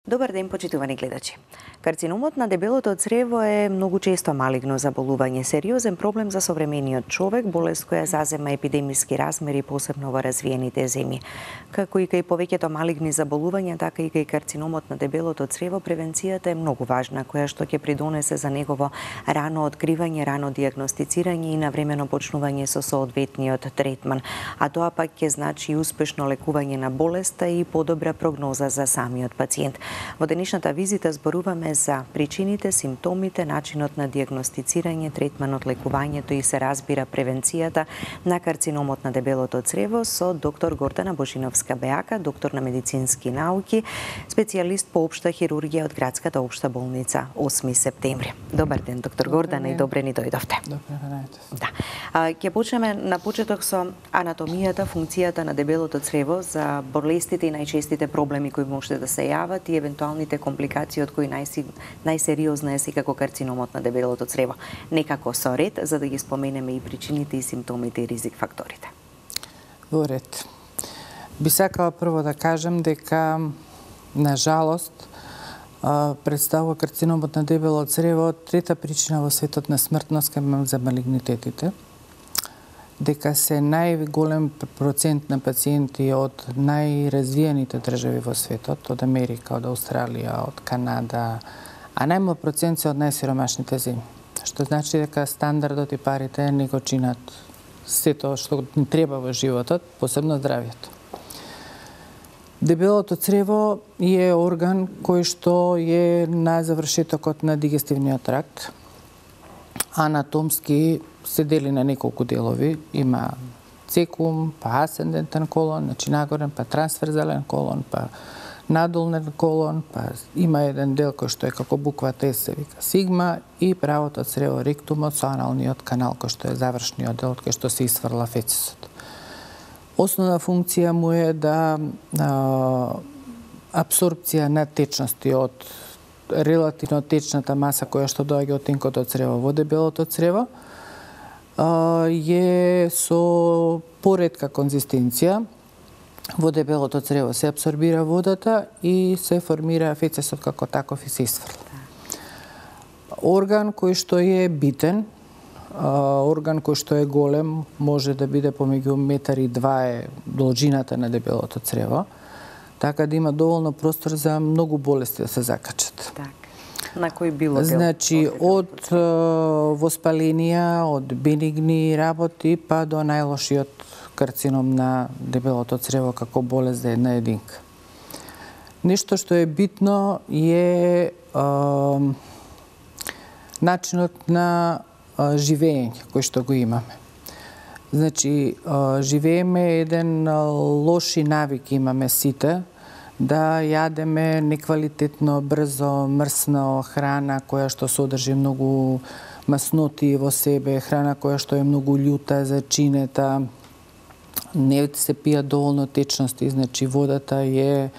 Добар ден, почитувани гледачи. Карциномот на дебелото црево е многу често малигно заболување, сериозен проблем за современиот човек, болест која зазема епидемиски размери посебно во развиените земји. Како и кај повеќето малигни заболувања, така и кај карциномот на дебелото црево, превенцијата е многу важна, која што ќе придонесе за негово рано откривање, рано дијагностицирање и навремено почнување со соодветниот третман, а тоа пак ќе значи и успешно лекување на болеста и подобра прогноза за самиот пациент. Во денешната визита зборуваме за причините, симптомите, начинот на дијагностицирање, третманот, лекувањето и се разбира превенцијата на карциномот на дебелото црево со доктор Гордана Божиновска-Беака, доктор на медицински науки, специјалист по општа хирургија од градската општа болница 8 септември. Добар ден, доктор Гордана, и добре ни дојдовте. Да. Ќе почнеме на почеток со анатомијата, функцијата на дебелото црево, за болестите и најчестите проблеми кои може да се јават и евентуалните компликации од кои најсериозна е секако карциномот на дебелото црево. Некако со ред, за да ги споменеме и причините, и симптомите, и ризик факторите. Во ред. Би сакала прво да кажем дека, на жалост, представува карциномот на дебело црево трета причина во светот на смртност за малигнитетите, дека се најголем процент на пациенти од најразвиените држави во светот, од Америка, од Австралија, од Канада, а најмал процент се од најсиромашните земји. Што значи дека стандардот и парите не го чинат сето што ни треба во животот, посебно здравието. Дебелото црево е орган кој што е на завршетокот на дигестивниот тракт. Анатомски се дели на неколку делови. Има цекум, па асцендентен колон, значи нагорен, па трансверзален колон, па надолнен колон, па има еден дел кој што е како буквата С, се вика сигма, и правото црево ректумот со аналниот канал кој што е завршниот дел од кој што се исфрла фецисот. Основна функција му е да апсорбција на течности од релативно течната маса која што доаѓа од тенкото црево во дебелото црево, е со поретка конзистенција. Во дебелото црево се апсорбира водата и се формира фецесот како таков и се исфрла. Орган кој што е битен, орган кој што е голем, може да биде помеѓу 1,2 е должината на дебелото црево, така да има доволно простор за многу болести да се закачат. Так. На кој било дел? Значи, од воспаленија, од бенигни работи, па до најлошиот карцином на дебелото црево како болест за една единка. Нешто што е битно е начинот на живење кој што го имаме. Значи, живееме еден лоши навик имаме сите, да јадеме неквалитетно, брзо, мрсно храна која што содржи многу масноти во себе, храна која што е многу љута, зачинета, не се пијат доволно течности, значи водата е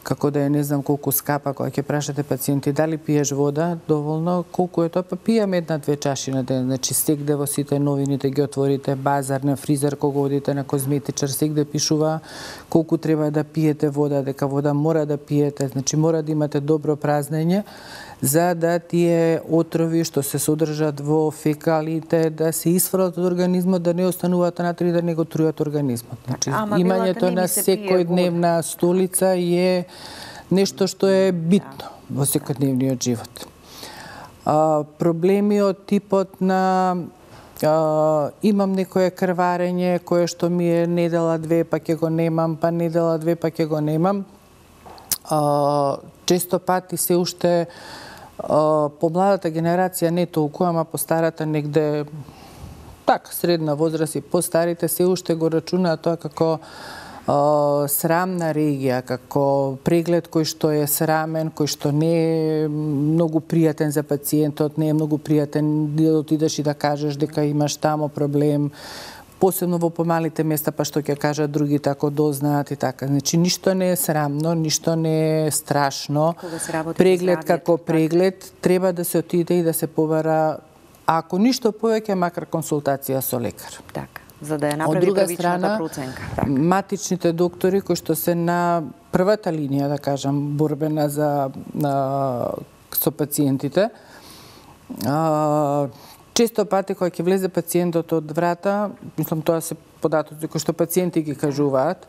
како да е не знам колку скапа, кога ќе прашате пациенти дали пиеш вода доволно, колку е тоа, па пијаме 1-2 чаши на ден. Значи сегде во сите новините ги отворите, базар, на фризер, кога одите на козметичар, сегде пишува колку треба да пиете вода, дека вода мора да пиете, значи мора да имате добро празнење, за да тие отрови што се содржат во фекалите да се исфрлат од организмот, да не остануваат внатре и да не го трујат организмот. Значи, имањето на секојдневна столица е нешто што е битно во секојдневниот живот. Проблеми од типот на имам некое крварење кое што ми е недела 2 па ќе го немам, па недела 2 па ќе го немам. Често пати се уште по младата генерација не толку, ама по старата негде така средна возраст и по старите се уште го рачунаат тоа како срамна регија, како преглед кој што е срамен, кој што не е многу пријатен за пациентот, не е многу пријатен да отидеш и да кажеш дека имаш тамо проблем, посебно во помалите места, па што ќе кажат другите ако дознаат и така. Значи, ништо не е срамно, ништо не е страшно. Преглед како преглед, треба да се отиде и да се побара, ако ништо повеќе, макар консултација со лекар. Така, за да ја направи првичната проценка. Матичните доктори кои што се на првата линија, да кажам, борбена со пациентите. Често пати кога ќе влезе пациентот од врата, мислам тоа се податоци кои што пациенти ги кажуваат,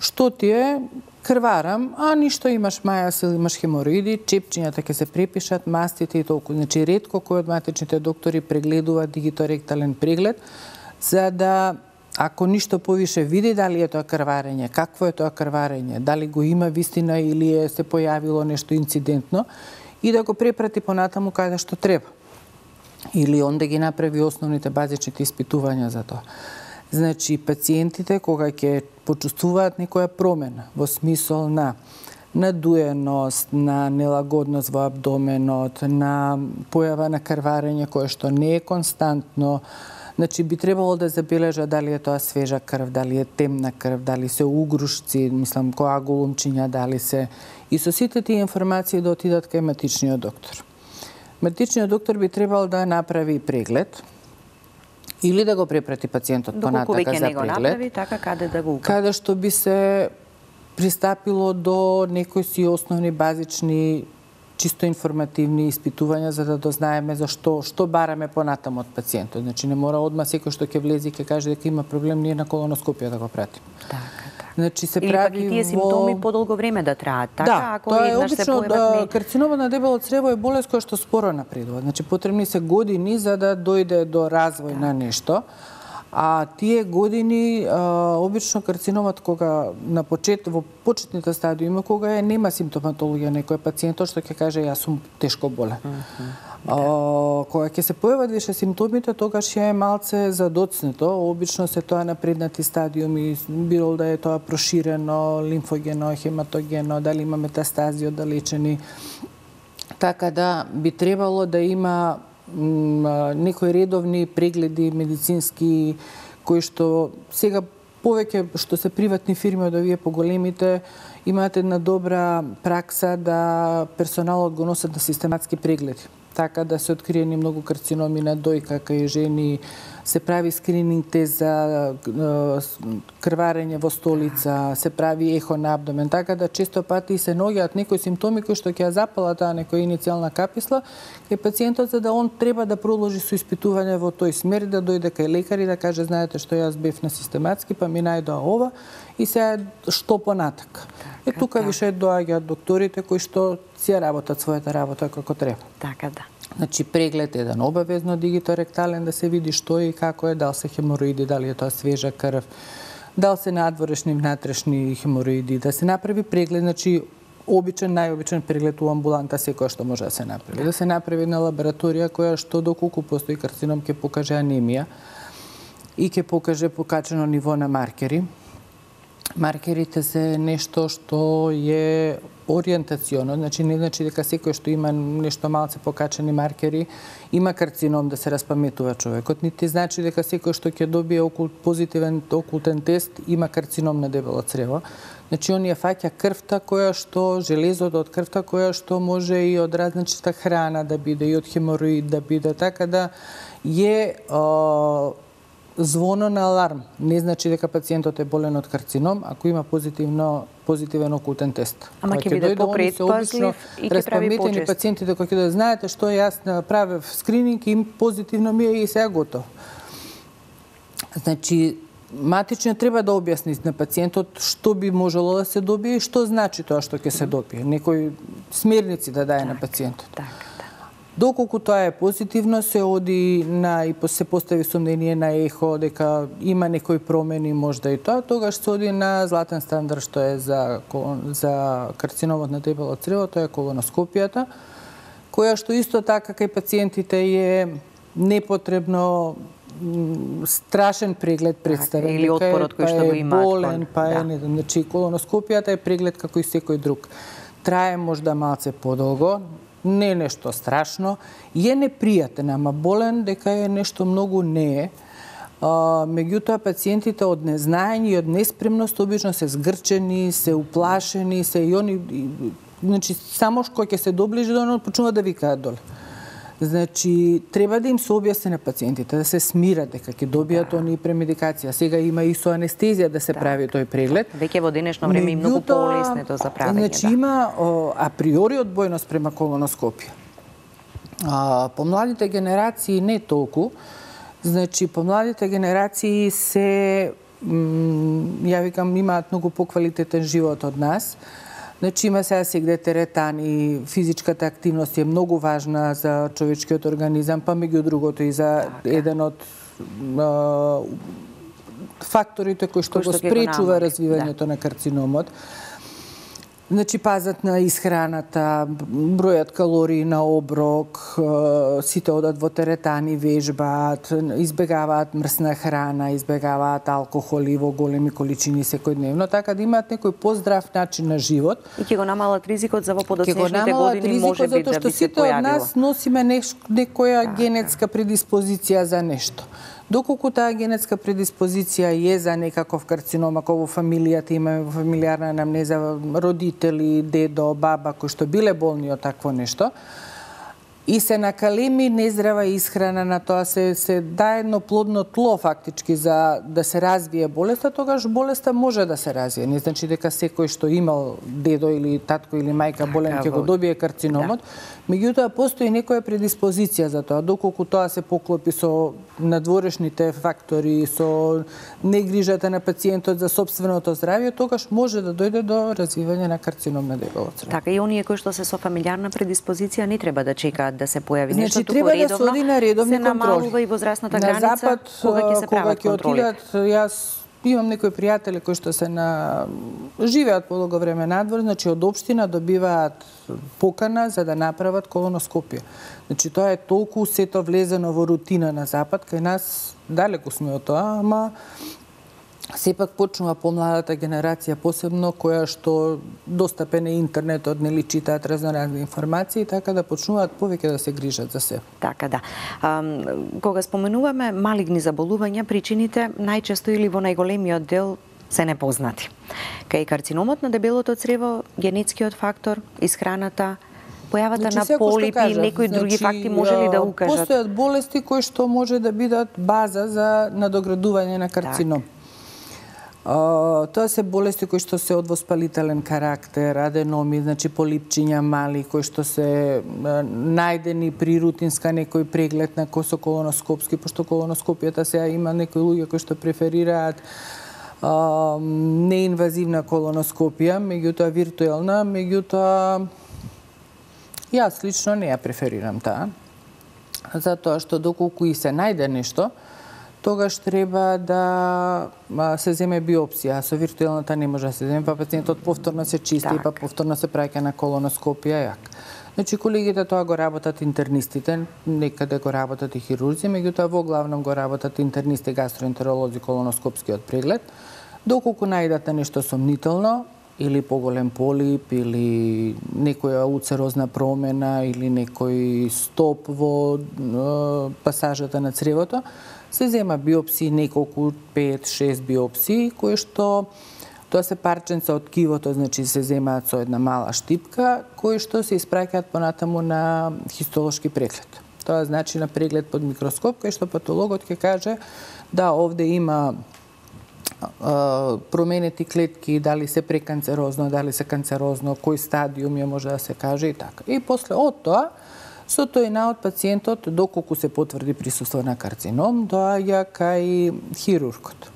што ти е, крварам, а ништо, имаш мајас или имаш хемороиди, чепчињата ќе се препишат, мастите и толку. Значи, ретко кој од матичните доктори прегледува дигиторектален преглед, за да, ако ништо повише види дали е тоа крварење, какво е тоа крварење, дали го има вистина или се појавило нешто инцидентно, и да го препрати понатаму каде што треба. Или он да ги направи основните базичните испитувања за тоа. Значи, пациентите кога ќе почувствуваат некоја промена во смисол на надуеност, на нелагодност во абдоменот, на појава на крварење кое што не е константно, значи би требало да забележа дали е тоа свежа крв, дали е темна крв, дали се угрушци, мислам коагулумчиња, дали се, и со сите тие информации да отидат кај матичниот доктор. Матичниот доктор би требал да направи преглед или да го препрати пациентот понатака за преглед. Направи, така каде да го каде што би се пристапило до некои си основни базични чисто информативни испитувања за да дознаеме за што бараме понатаму од пациентот. Значи не мора одма секој што ќе влезе и ќе каже дека има проблем, ние на колоноскопија да го пратим. Така. Значи се или прави пак и тие симптоми подолго време да траат, така? Да, ако тоа е еднаш се обично појават карциномот на дебело црево е болест која што споро напредува. Значи потребни се години за да дојде до развој на нешто. А тие години, обично карциномот кога во почетните стадиуми, кога нема симптоматологија некој пациентот што ќе каже јас сум тешко болен. Кога ќе се појават више симптомите, тогаш е малце задоцнето. Обично се тоа напреднати стадиуми, било да е тоа проширено, лимфогено, хематогено, дали има метастази оддалечени. Така да би требало да има некои редовни прегледи медицински кои што сега повеќе што се приватни фирми од овие поголемите имаат една добра пракса да персоналот го носат на систематски прегледи. Така да се откриени многу карциноми на дојка кај жени, се прави скрининг тест за крварење во столица, се прави ехо на абдомен, така да често пати се наоѓаат некои симптоми кои што ќе ја запала таа некоја иницијална каписла кај пациентот за да он треба да продолжи со испитување во тој смер, да дојде кај лекар и да каже знаете што јас бев на систематски, па ми најдоа ова и сега што понатака. Тука више доаѓаат докторите кои што си ја работат својата работа како треба. Така да. Значи преглед еден обавезно дигиторектален да се види што е и како е, дали се хемороиди, дали е тоа свежа крв, дали се надворешни, внатрешни хемороиди, да се направи преглед, значи најобичен преглед у амбуланта секој што може да се направи. Да се направи една лабораторија која што доколку постои карцином ќе покаже анемија и ќе покаже покачено ниво на маркери. Маркерите се нешто што е ориентационо, значи не значи дека секој што има нешто малце покачени маркери има карцином да се распаметува човекот, нити значи дека секој што ќе добие позитивен окултен тест има карцином на дебело црево. Значи он ја фаќа крвта која што железото од крвта која што може и од различна храна да биде и од хемороид да биде, така да е звоно на аларм. Не значи дека пациентот е болен од карцином, ако има позитивен окултен тест. Ама ќе биде попредпазлив и ќе прави почест. Пациентите кои ќе знаете што јас направив скрининг и позитивно ми е и сега готово. Значи матичниот треба да објасни на пациентот што би можело да се добие и што значи тоа што ќе се добие. Некои смерници да даде на пациентот. Доколку тоа е позитивно, се оди и се постави сомнение на ехо дека има некои промени, можда и тоа, тогаш се оди на златен стандард што е за карциномот на дебело црево, тоа е колоноскопијата, која што исто така кај пациентите е непотребно страшен преглед представен. Или отпорот кој што го имаат. Болен, значи колоноскопијата е преглед како и секој друг. Трае можда малце подолго, не е нешто страшно, е непријатен, ама болен дека е нешто многу не е. Меѓутоа пациентите од незнаење и од неспремност обично се згрчени, се уплашени, се и они, значи само што ќе се доближи до него почнува да викаат доле. Значи, треба да им се објасни на пациентите, да се смират дека ќе добијат оние премедикација. Сега има и со анестезија да се прави тој преглед. Веќе во денешно време и многу полесно тоа за правење. Значи, има априори одбојност према колоноскопија. Помладите генерации не толку. Значи, помладите генерации се, ја викам, имаат многу поквалитетен живот од нас. Значи, има сега сегде теретани, физичката активност е многу важна за човечкиот организам, па меѓу другото и за еден од факторите кои што го спречува развивањето на карциномот. Значи, пазат на исхраната, бројат калории на оброк, сите одат во теретани, вежбаат, избегаваат мрсна храна, избегаваат алкохоли во големи количини секојдневно, така да имаат некој поздрав начин на живот. И ќе го намалат ризикот за во подоцнешните години може би да би се појавило. Затоа што сите од нас носиме некоја генетска предиспозиција за нешто. Доколку таа генетска предиспозиција е за некаков карцином, ако во фамилијата имаме во фамилиарна анамнеза родители, дедо, баба кои што биле болни од такво нешто, и се накалеми нездрава исхрана на тоа, се дае едно плодно тло фактички за да се развие болеста, тогаш болеста може да се развие. Не значи дека секој што имал дедо или татко или мајка болен ќе го добие карциномот, меѓутоа постои некоја предиспозиција за тоа, доколку тоа се поклопи со надворешните фактори, со негрижата на пациентот за сопственото здравје, тогаш може да дојде до развивање на карцином на дебело црево. Така и оние кои што се со фамилиарна предиспозиција не треба да чекаат да се појави нешто, туку редовно да се оди на редовни контроли. Се намалува и возрастната граница на запад, кога ќе се прават контроли. Јас имам некои пријатели кои што се живеат подолго време надвор, значи од општина добиваат покана за да направат колоноскопија. Значи тоа е толку сето влезено во рутина на запад, кај нас далеку сме од тоа, ама сепак почнува помладата генерација посебно која што достапен е интернетот, нели читаат разноразни информации, така да почнуваат повеќе да се грижат за себе. Така да. Кога споменуваме малигни заболувања, причините најчесто или во најголемиот дел се непознати. Кај карциномот на дебелото црево, генетскиот фактор, исхраната, појавата на полипи и некои други факти може ли да укажат? Постојат болести кои што може да бидат база за надоградување на карцином. Тоа се болести кои што се од воспалителен карактер, аденоми, значи полипчиња мали, кои што се најдени при рутинска некој преглед на колоноскопски, пошто колоноскопијата сега има некои луѓе кои што преферираат неинвазивна колоноскопија, меѓутоа виртуелна, меѓутоа јас лично не ја преферирам таа, затоа што доколку и се најде нешто, тогаш треба да се земе биопсија. Со виртуелната не може да се земе, па пациентот повторно се чисти, па повторно се праќа на колоноскопија јак. Значи, колегите тоа го работат интернистите, некаде го работат и хирурзи, меѓутоа во главном го работат интернисти, гастроентеролози, колоноскопскиот преглед. Доколку најдат нешто сомнително, или поголем полип, или некоја уцерозна промена, или некој стоп во пасажата на цревото, се зема биопсии, неколку 5-6 биопсии, кои што тоа се парченца од ткивото, значи се земаат со една мала штипка, кои што се испраќаат понатаму на хистолошки преглед. Тоа значи на преглед под микроскоп, кај што патологот ќе каже да овде има променети клетки, дали се преканцерозно, дали се канцерозно, кој стадиум ја може да се каже и така. И после од тоа, со тој наод пациентот, доколку се потврди присуство на карцином, доаѓа кај хирургот.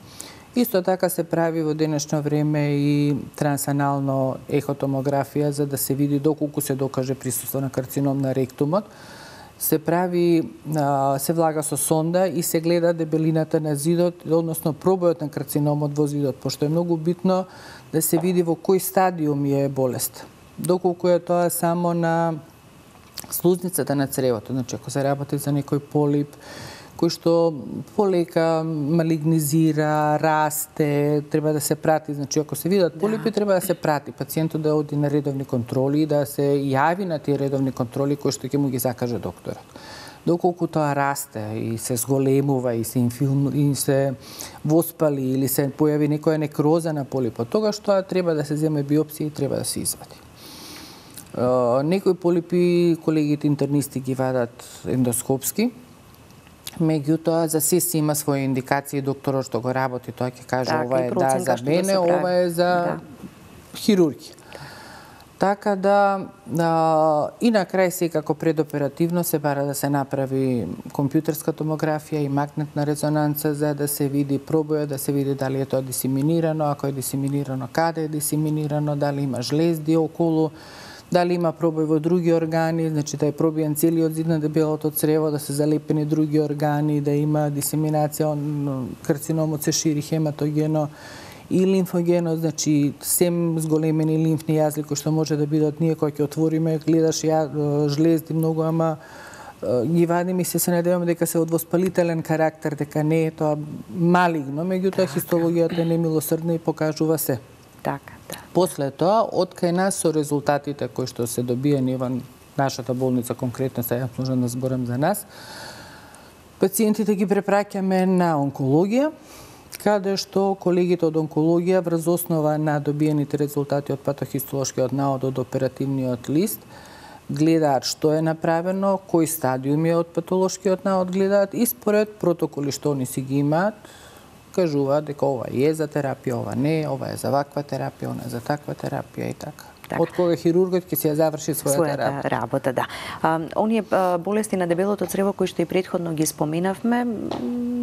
Исто така се прави во денешно време и трансанално ехотомографија за да се види доколку се докаже присуство на карцином на ректумот. Се прави, се влага со сонда и се гледа дебелината на зидот, односно пробојот на карциномот во зидот, пошто е многу битно да се види во кој стадиум е болест. Доколку е тоа само на слузницата на цревото, значи ако се работи за некој полип кој што полека малигнизира, расте, треба да се прати, значи ако се видат полипи, треба да се прати пациентот да оди на редовни контроли, да се јави на тие редовни контроли кои што ќе му ги закаже докторот. Доколку тоа расте и се зголемува и се воспали или се појави некоја некроза на полипот, тогаш тоа треба да се земе биопсија и треба да се извади. Некои полипи колегите интернисти ги вадат ендоскопски, меѓутоа за се си има своји индикации, докторот што го работи, тој ќе каже ова е да за мене, ова е за хирургија. Така да, и на крај секако предоперативно се бара да се направи компјутерска томографија и магнетна резонанца за да се види пробоја, да се види дали е тоа дисеминирано, ако е дисеминирано, каде е дисеминирано, дали има жлезди околу, дали има пробој во други органи, значи да е пробиен целиот зид на дебелото црево, да се залепени други органи, да има дисеминација, карциномот се шири хематогено и лимфогено, значи сем зголемени лимфни јазли кои што може да бидат ние кои ќе отвориме, гледаш жлезди многу, ама ги вадиме и се надеваме дека се од воспалителен карактер, дека не е тоа малигно, меѓутоа хистологијата е немилосрдна и покажува се. Така, да. После тоа, од кај нас со резултатите кои што се добиени во нашата болница, конкретно сега можам да зборам за нас, пациентите ги препраќаме на онкологија, каде што колегите од онкологија врз основа на добиените резултати од патохистолошкиот наод од оперативниот лист гледаат што е направено, кои стадиуми од патолошкиот наод гледаат и според протоколи што они си ги имаат, кажуваат дека ова е за терапија, ова не, ова е за ваква терапија, она е за таква терапија и така. Од кога хирургот ќе си ја заврши својата работа, да. Оние болести на дебелото црево кои што и претходно ги споменавме,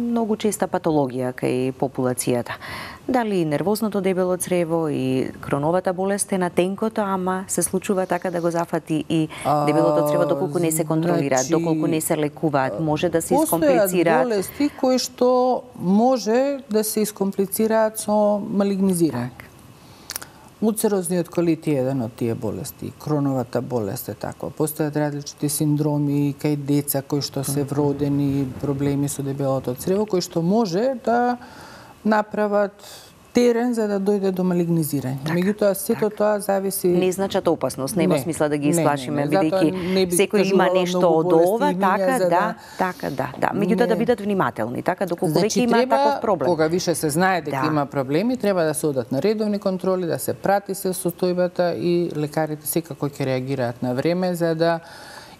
многу честа патологија кај популацијата. Дали нервозното дебело црево и кроновата болест е на тенкото, ама се случува така да го зафати и дебелото црево доколку не се контролираат, доколку не се лекуваат, може да се искомплицираат. Постојат болести кои што може да се искомплицираат со малигнизирање. Уцерозниот колит е еден од тие болести, кроновата болест е таква. Постојат различити синдроми кај деца кои што се вродени проблеми со дебелото црево, кои што може да направат терен за да дојде до малигнизирање. Меѓутоа сето тоа зависи. Не значат опасност, нема смисла да ги исплашиме, бидејќи секој има нешто од ова, така да. Меѓутоа да бидат внимателни, така доколку веќе има таков проблем. Кога више се знае дека има проблеми, треба да се одат на редовни контроли, да се прати се состојбата и лекарите секако ќе реагираат на време за да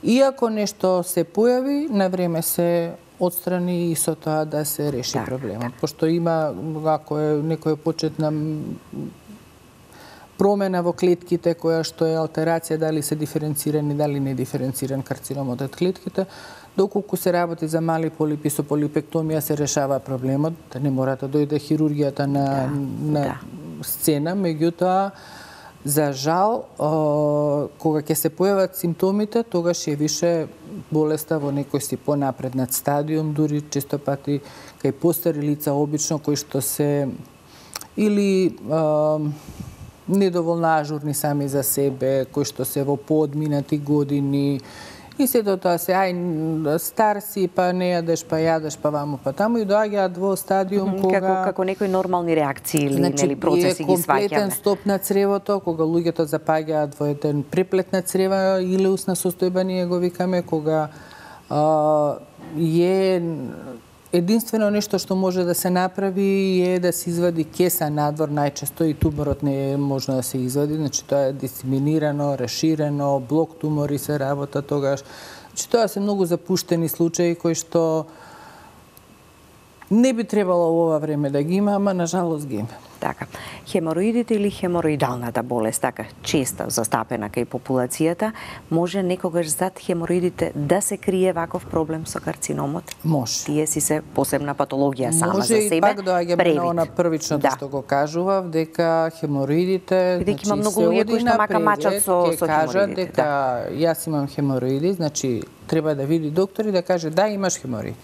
иако нешто се појави, на време се отстрани и со тоа да се реши проблемот. Пошто има, ако е некоја почетна промена во клетките, која што е алтерација, дали се диференцирани, дали не диференциран карциномот од клетките, доколку се работи за мали полипи со полипектомија се решава проблемот, да не мора да дојде хирургијата на сцена, меѓутоа за жал, кога ќе се појават симптомите, тогаш е више болеста во некој си понапреднат стадиум, дури често пати кај постари лица обично кои што се или недоволно ажурни сами за себе, кои што се во поодминати години, и сето тоа се, стар си, па не јадеш, па јадеш, па ваму, па таму, и доаѓаат во стадиум кога... Како некои нормални реакции или процеси ги сваќаме. Е комплетен стоп на цревото, кога луѓето запаѓаат во еден преплет на црева или усна состојба, ние го викаме, кога е единствено нешто што може да се направи е да се извади кеса надвор, најчесто и туморот не е можно да се извади, значи тоа е дисеминирано, расширено, блок тумори се работа тогаш. Значи тоа се многу запуштени случаи кои што не би требало во ова време да ги има, ама на жалост ги има. Така. Хемороидите или хемороидалната болест, така честа застапена кај популацијата, може некогаш зад хемороидите да се крие ваков проблем со карциномот? Може. Тие си се посебна патологија сама за себе. Може и пак доаѓаме на она првичното што го кажував, дека хемороидите, бидејќи има многу луѓе кои што мака мачат со кажат дека јас имам хемороиди, значи треба да види доктор и да каже да имаш хемороиди.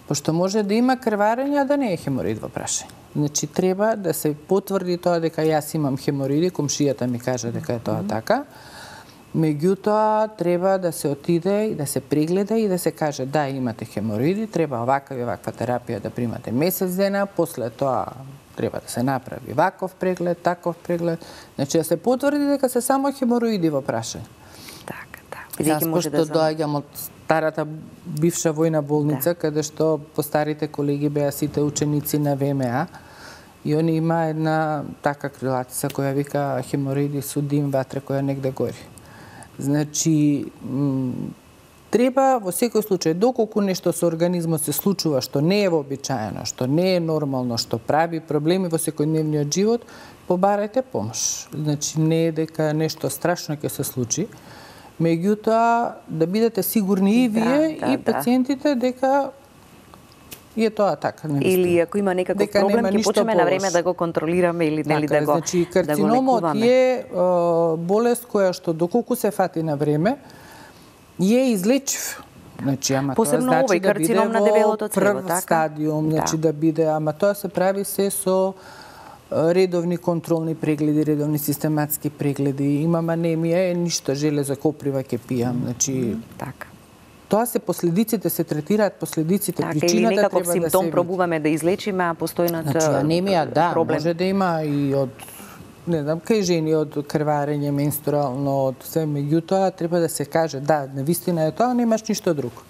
Пошто може да има крварење, а да не е хемороид во прашање. Значи, треба да се потврди тоа дека јас имам хемороиди, комшијата ми каже дека е тоа така. Меѓутоа, треба да се отиде и да се прегледа и да се каже да, имате хемороиди, треба оваква и оваква терапија да примате месец дена, после тоа треба да се направи ваков преглед, таков преглед. Значи, да се потврди дека се само хемороиди во прашање. Така. Јас пошто доаѓам од старата бивша војна болница, каде што постарите колеги беа сите ученици на ВМА, и они има една така крилатица која вика хемороиди су дим ватре која негде гори. Значи, треба во секој случај, доколку нешто со организмот се случува што не е вообичаено, што не е нормално, што прави проблеми во секојдневниот живот, побарајте помош. Значи, не е дека нешто страшно ќе се случи, меѓутоа да бидете сигурни и вие и пациентите дека е тоа така. Или ако има некаков проблем, ќе почнеме на време да го контролираме или нели да го значи, карциномот е болест која што доколку се фати на време, е излечив. Значи, ама посебно тоа значи овој карцином на дебелото црево, прв стадиум, значи да биде, ама тоа се прави се со редовни контролни прегледи, редовни систематски прегледи. Имам анемија, ништо железо коприва ќе пијам. Значи, така. Тоа се последиците, се третираат последиците, така, причината или некаков треба да се симптом види. пробуваме да излечиме, а постојната Значи, анемија, да, проблем. може да има и од, не знам, кај жени од крварење менструално, од се, меѓутоа треба да се каже, да, навистина е тоа, немаш ништо друго.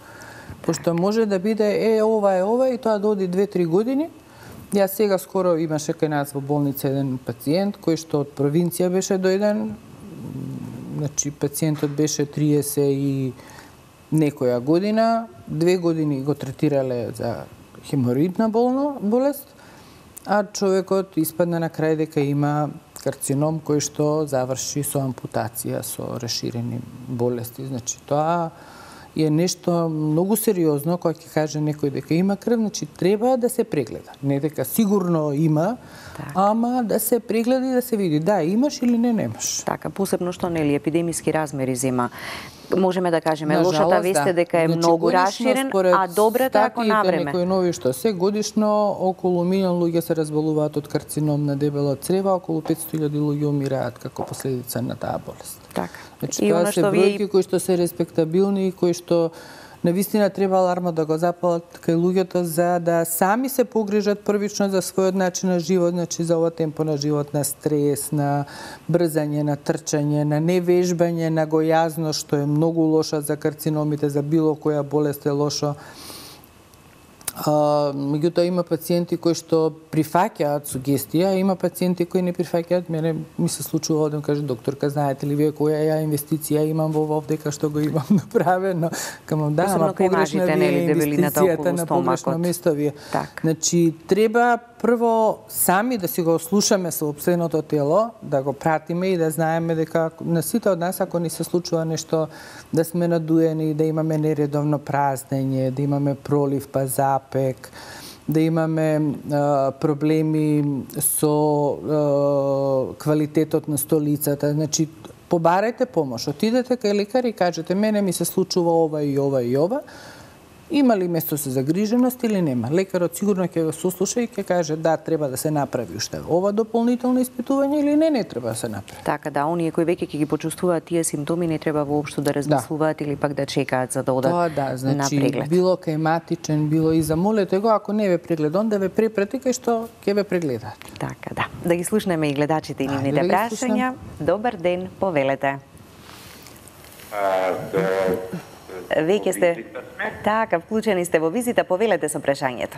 Пошто може да биде, ова и тоа доди 2-3 години. Јас сега скоро имаше кај нас во болница еден пациент кој што од провинција беше дојден. Значи пациентот беше 30 и некоја година, 2 години го третирале за хемороидна болест, а човекот испадна на крај дека има карцином кој што заврши со ампутација, со расширени болести. Значи тоа е нешто многу сериозно, кога ќе каже некој дека има крв, значи треба да се прегледа. Не дека сигурно има, ама да се прегледа и да се види да имаш или не немаш. Така, посебно што нели епидемиски размери зема. Можеме да кажеме, лошата вест е дека е многу расширен, а добрата ако навреме. Некои нови што се годишно околу милион луѓе се разболуваат од карцином на дебело црево, околу 500.000 луѓе умираат како последица на таа болест. Така. Значи, тоа се бројки кои што се респектабилни и кои што навистина треба аларма да го запалат кај луѓето за да сами се погрижат првично за својот начин на живот, значи за ова темпо на живот, на стрес, на брзање, на трчање, на невежбање, на гојазност, што е многу лоша за карциномите, за било која болест е лошо. Меѓутоа има пациенти кои што прифаќаат сугестија, има пациенти кои не прифаќаат. Мене ми се случува да каже докторка, знаете ли вие која ја инвестиција имам во дека што го имам направено? Камам да, ама погрешна ви е инвестицијата на погрешно место вие. Значи треба прво сами да си го слушаме собственото тело, да го пратиме и да знаеме дека на сите од нас ако ни се случува нешто, да сме надуени, да имаме нередовно празнење, да имаме пролив па запек, да имаме проблеми со квалитетот на столицата. Значи, побарајте помош. Отидете кај лекар и кажете, мене ми се случува ова и ова и ова. Има ли место за загриженост или нема? Лекарот сигурно ќе го сослуша и ќе каже да, треба да се направи уште ова дополнително испитување или не треба да се направи. Така да, оние кои веќе ќе ги почувствуваат тие симптоми не треба воопшто да размислуваат или пак да чекаат за да одат на преглед. Било кај матичен, било и замолете го, ако не ве прегледа, он да ве препрати кај што ќе ве прегледаат. Така да. Да ги слушнеме и гледачите и нивните прашања. Добар ден, повелете. Веќе сте така, вклучени сте во визита, повелете со прашањето.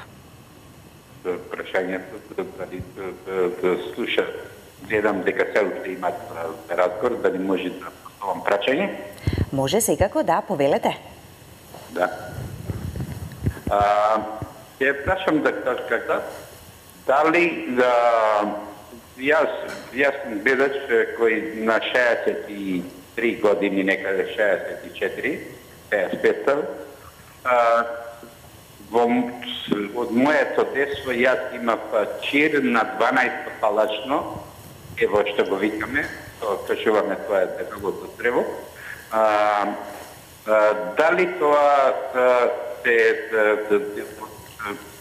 Прашањето слуша, гледам дека се уште имат разговор, дали може да поставам прашање? Може секако, да, повелете. Да. Ќе прашам докторката, дали јас сум гледач кој на 63 години, некаде 64, од моето детство јас имав чир на 12 палачно, ево што го викаме, кажуваме тоа е дебелото црево. Дали тоа се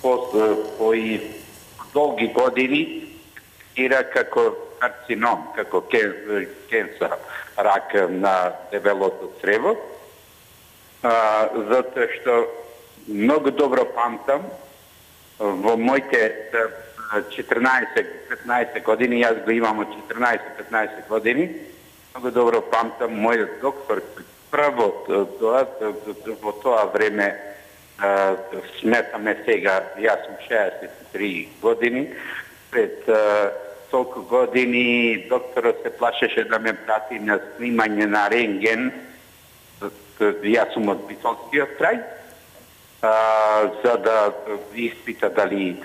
по долги години ира како карцином, како кенсер, рак на дебелото црево? Затоа што многу добро памтам во моите 14-15 години, јас го имам од 14-15 години, многу добро памтам мојот доктор прво во тоа време, сметаме сега, јас сум 63 години, пред толку години докторот се плашеше да ме прати на снимање на рентген. Јас сум од Битолскиот крај, за да испита дали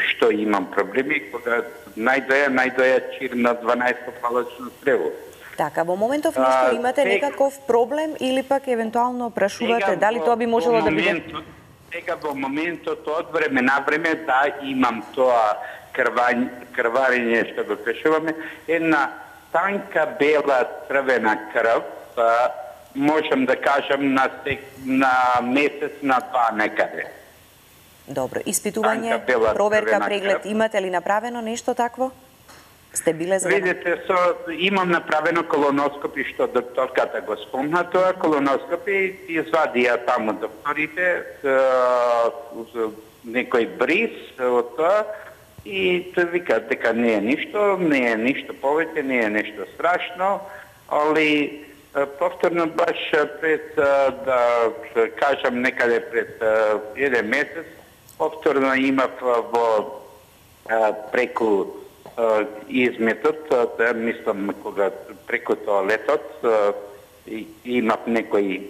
што имам проблеми, кога најдоја чир на 12-палачно црево. Така, во моментов нешто имате некаков проблем или пак евентуално прашувате дали тоа би можело да биде? Сега во моментот од време на време да имам тоа крварење што го кажуваме, една танка бела црвена крв, можам да кажам на месец на два некаде. Добро, испитување, проверка, преглед, имате ли направено нешто такво? Сте биле за... Видите, имам направено колоноскопи, што докторката го спомна тоа, колоноскопи извадија таму докторите, некој бриз од тоа, и вика дека не е ништо повеќе, не е нешто страшно, али повторно баш пред, да кажам некаде пред еден месец, повторно имав во преку изметот, мислам кога преку тоалетот имав некој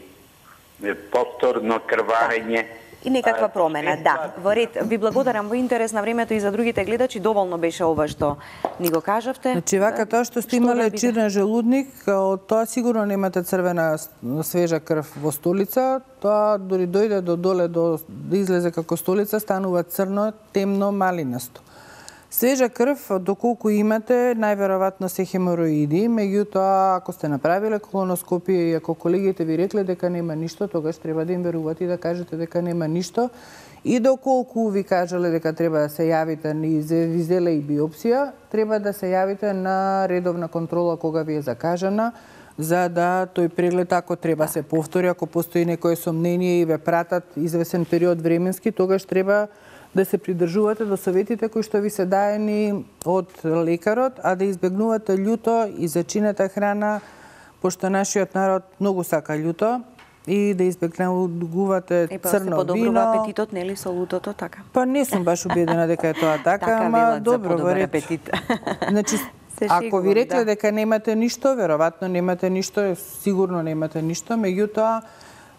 повторно крварење. И некаква промена, да. Во ред, ви благодарам во интерес на времето и за другите гледачи, доволно беше ова што ни го кажавте. Значи, вака тоа што сте имале чирен желудник, од тоа сигурно немате црвена свежа крв во столица, тоа дори дојде до доле, да излезе како столица, станува црно, темно, малинасто. Свежа крв, доколку имате, најверојатно се хемороиди, меѓутоа, ако сте направиле колоноскопија и ако колегите ви рекле дека нема ништо, тогаш треба да им верувате и да кажете дека нема ништо. И доколку ви кажале дека треба да се јавите и ви зеле и биопсија, треба да се јавите на редовна контрола кога ви е закажана, за да тој преглед, ако треба се повтори, ако постои некое сомнение и ве пратат извесен период временски, тогаш треба да се придржувате до советите кои што ви се даени од лекарот, а да избегнувате љуто и зачинета храна, пошто нашиот народ многу сака љуто, и да избегнувате црно вино. Подобрува апетитот, нели, со лутото, така? Па не сум баш убедена дека е тоа така, ама добро, во ред. Значи, ако ви рекле дека немате ништо, веројатно немате ништо, сигурно немате ништо, меѓутоа,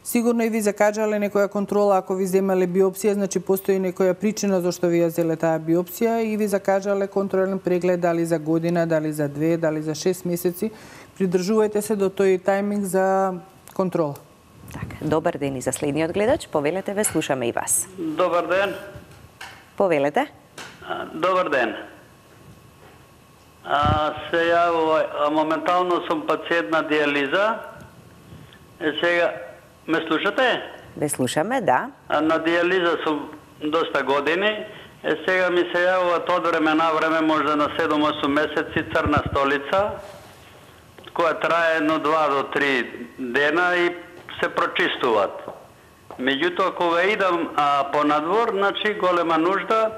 сигурно и ви закажале некоја контрола, ако ви земале биопсија, значи постои некоја причина зашто ви ја зеле таа биопсија и ви закажале контролен преглед дали за година, дали за 2, дали за 6 месеци. Придржувајте се до тој тајминг за контрола. Така, добар ден и за следниот гледач. Повелете, ве слушаме и вас. Добар ден. Повелете. Добар ден. Се јавува, моментално сум пациент на диализа. Сега ме слушате? Ве слушаме, да. На диализа сум доста години. Сега ми се јавува од време на време, можда на 7-8 месеци, црна столица, која трае 1, 2 до 3 дена и се прочистуваат. Меѓутоа, кога идам по надвор, значи голема нужда,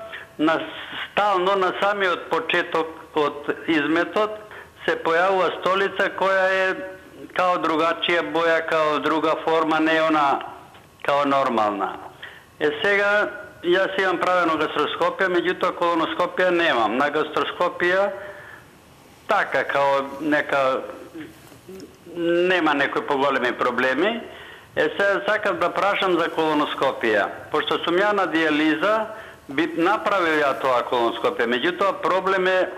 стално на самиот почеток од изметот се појавува столица која е као другачија боја, као друга форма, не она као нормална. Сега, јас имам правено гастроскопија, меѓутоа колоноскопија немам. На гастроскопија, така, као нека, нема некои поголеми проблеми. Сега сакам да прашам за колоноскопија. Пошто сум ја на диализа, би направил ја тоа колоноскопија. Меѓутоа, проблем е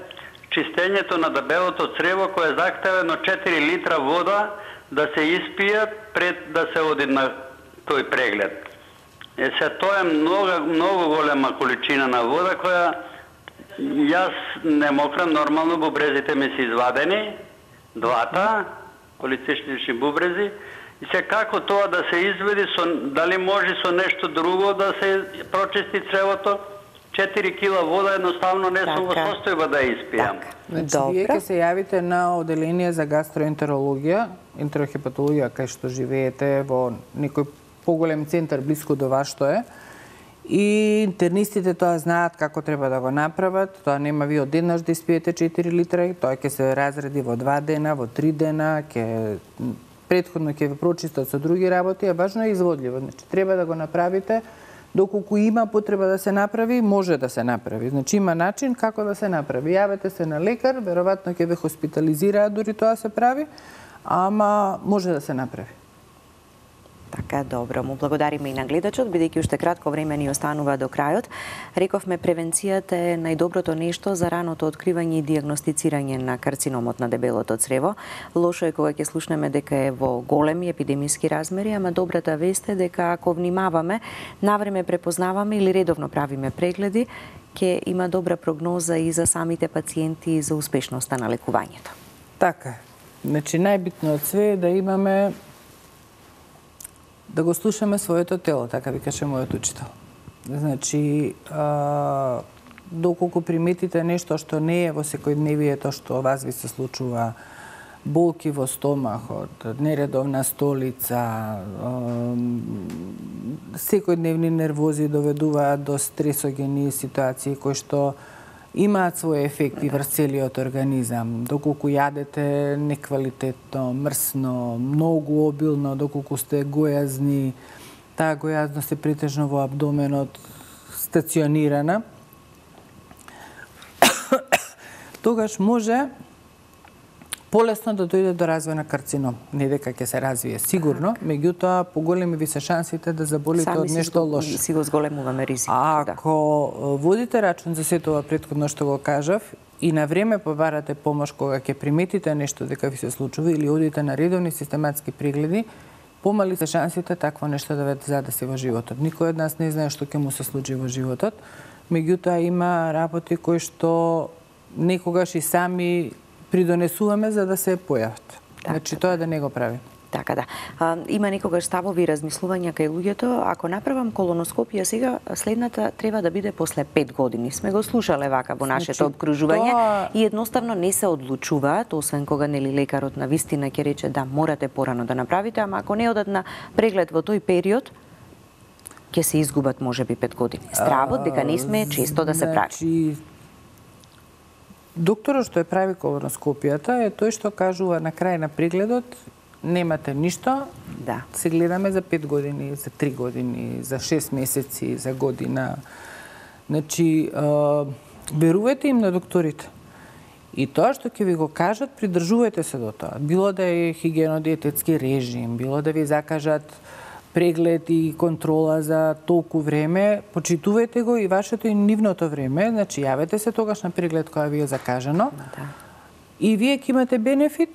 чистењето на дебелото црево, кое е захтевено 4 литра вода да се испие пред да се оди на тој преглед. Се тоа е многу голема количина на вода која јас не мокрам, нормално бубрезите ми се извадени, двата полицистични бубрези, и се како тоа да се изведи, дали може со нешто друго да се прочисти цревото. 4 кила вода едноставно не сум во состојба да испијам. Значи, вие ќе се јавите на оделение за гастроентерологија, ентерохепатологија, кај што живеете во некој поголем центар блиску до вас што е. И интернистите тоа знаат како треба да го направат. Тоа нема ви одеднаш да испиете 4 литра, тоа ќе се разреди во 2 дена, во 3 дена, предходно ќе ви прочистат со други работи, а важно е изводливо. Значи, треба да го направите Доколку има потреба да се направи, може да се направи. Значи има начин како да се направи. Јавете се на лекар, веројатно ќе ве хоспитализираат дори тоа се прави, ама може да се направи. Така, добро. Му благодариме и на гледачот, бидејќи уште кратко време ни останува до крајот. Рековме, превенцијата е најдоброто нешто за раното откривање и дијагностицирање на карциномот на дебелото црево. Лошо е кога ќе слушнеме дека е во големи епидемиски размери, ама добрата вест е дека ако внимаваме, навреме препознаваме или редовно правиме прегледи, ќе има добра прогноза и за самите пациенти и за успешноста на лекувањето. Така. Значи најбитно од све е да имаме да го слушаме своето тело, така ви каже мојот учител. Значи, доколку приметите нешто што не е во секојдневието што вас ви се случува, болки во стомахот, нередовна столица, секојдневни нервози доведуваат до стресогени ситуации кои што имаат свој ефекти врз целиот организам. Доколку јадете неквалитетно, мрсно, многу обилно, доколку сте гојазни, таа гојазност е претежно во абдоменот, стационирана, тогаш може полесно да дојде до развој на карцином. Не дека ќе се развие сигурно, меѓутоа поголеми ви се шансите да заболите од нешто лошо. Си го зголемуваме ризикот. Ако водите рачун за сето ова претходно што го кажав и на време побарате помош кога ќе приметите нешто дека ви се случува или одите на редовни систематски прегледи, помали се шансите такво нешто да ве задаси во животот. Никој од нас не знае што ќе му се случи во животот, меѓутоа има работи кои што некогаш и сами придонесуваме за да се појават. Значи тоа да не го прави. Така да. Има некогаш ставови размислувања кај луѓето, ако направам колоноскопија сега, следната треба да биде после 5 години. Сме го слушале вака во нашето обкружување и едноставно не се одлучуваат, освен кога нели лекарот на вистина ќе рече да морате порано да направите, ама ако не одат на преглед во тој период, ќе се изгубат можеби 5 години. Стравот дека не сме често да се прави. Докторот што ја прави колоноскопијата е тој што кажува на крај на прегледот немате ништо, се гледаме за 5 години, за 3 години, за 6 месеци, за година. Значи, верувајте им на докторите. И тоа што ќе ви го кажат, придржувајте се до тоа. Било да е хигиено-диететски режим, било да ви закажат преглед и контрола за толку време, почитувајте го и вашето и нивното време, значи јавете се тогаш на преглед која ви е закажано. И вие ќе имате бенефит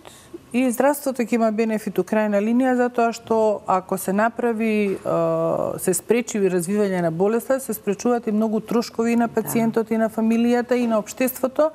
и здравството ќе има бенефит у крајна линија, затоа што ако се направи, се спречи развивање на болеста, се спречуваат и многу трошкови на пациентот и на фамилијата и на општеството,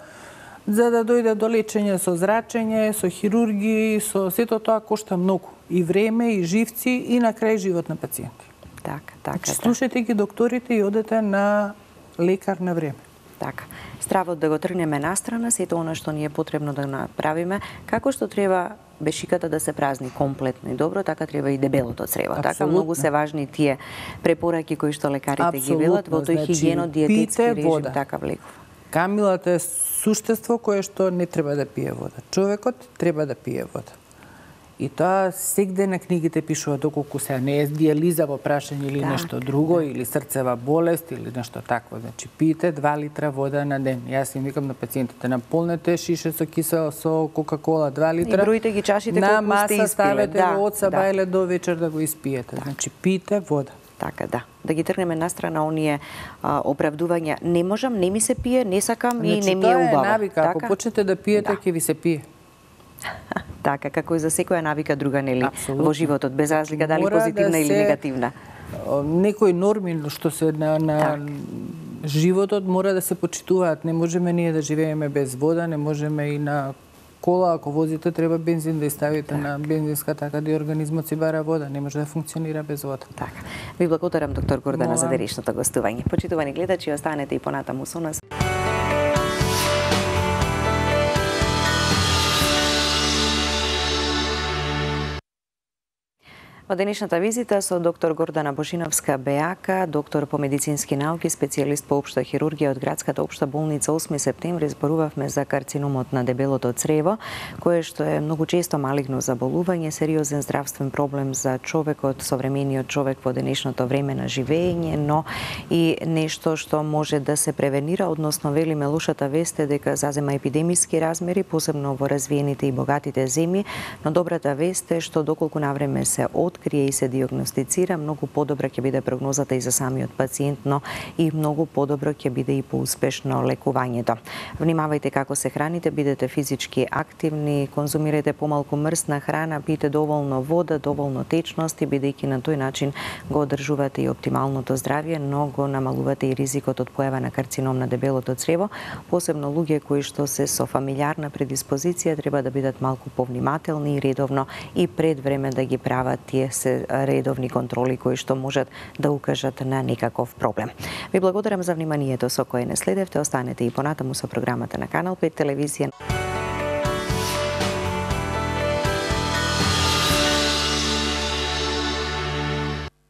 за да дојде до лечење со зрачење, со хирургии, со сето тоа кошта многу. И време, и живци, и на крај живот на пациенти. Така. Слушајте ги докторите и одете на лекар на време. Така. Стравот да го тргнеме настрана, сето она што ни е потребно да направиме, како што треба бешиката да се празни комплетно и добро, така треба и дебелото црево. Така многу се важни тие препораки кои што лекарите ги велат во тој хигиено-диететски режим, така влекува. Камилата е суштество кое што не треба да пие вода. Човекот треба да пие вода. И тоа сегде на книгите пишува, доколку се не е диализа во прашање или нешто друго, или срцева болест, или нешто такво. Значи, пиете 2 литра вода на ден. Јас им викам на пациентите, наполнете шише со кисел, со кока-кола 2 литра. И броите ги чашите колку сте испиле. На маса ставете го од сабајле до вечер да го испиете. Значи, пиете вода. Така, да ги тргнеме настрана оние оправдувања. Не можам, не ми се пие, не сакам и не ми е убаво. Тоа е навика. Ако почнете да пиете, ќе ви се пие. Така, како и за секоја навика друга, нели, во животот, без разлика дали позитивна или негативна. Некои норми што се на животот мора да се почитуваат. Не можеме ние да живееме без вода, не можеме и на кола, ако возите, треба бензин да ставите на бензинска, така да и организмот си бара вода. Не може да функционира без вода. Така. Ви благодарам, доктор Гордана, за денешното гостување. Почитувани гледачи, останете и понатаму со нас. Во денешната визита со доктор Гордана Божиновска Бејака, доктор по медицински науки, специјалист по општа хирургија од градската општа болница 8 септември, зборувавме за карциномот на дебелото црево, кое што е многу често малигно заболување, сериозен здравствен проблем за човекот, современиот човек во денешното време на живење, но и нешто што може да се превенира, односно велиме лошата вест е дека зазема епидемиски размери, посебно во развиените и богатите земји, но добрата вест е што доколку навреме се открие и се диагностицира, многу подобра ќе биде прогнозата и за самиот пациент, но и многу подобро ќе биде и поуспешно лекувањето. Внимавајте како се храните, бидете физички активни, конзумирајте помалку мрсна храна, пиете доволно вода, доволно течност и бидејќи на тој начин го одржувате и оптималното здравје, но го намалувате и ризикот од појава на карцином на дебелото црево. Посебно луѓе кои што се со фамилиарна предиспозиција треба да бидат малку повнимателни и редовно и пред време да ги прават тие се редовни контроли кои што можат да укажат на некаков проблем. Ви благодарам за вниманието со кое не следевте. Останете и понатаму со програмата на Канал 5 телевизија.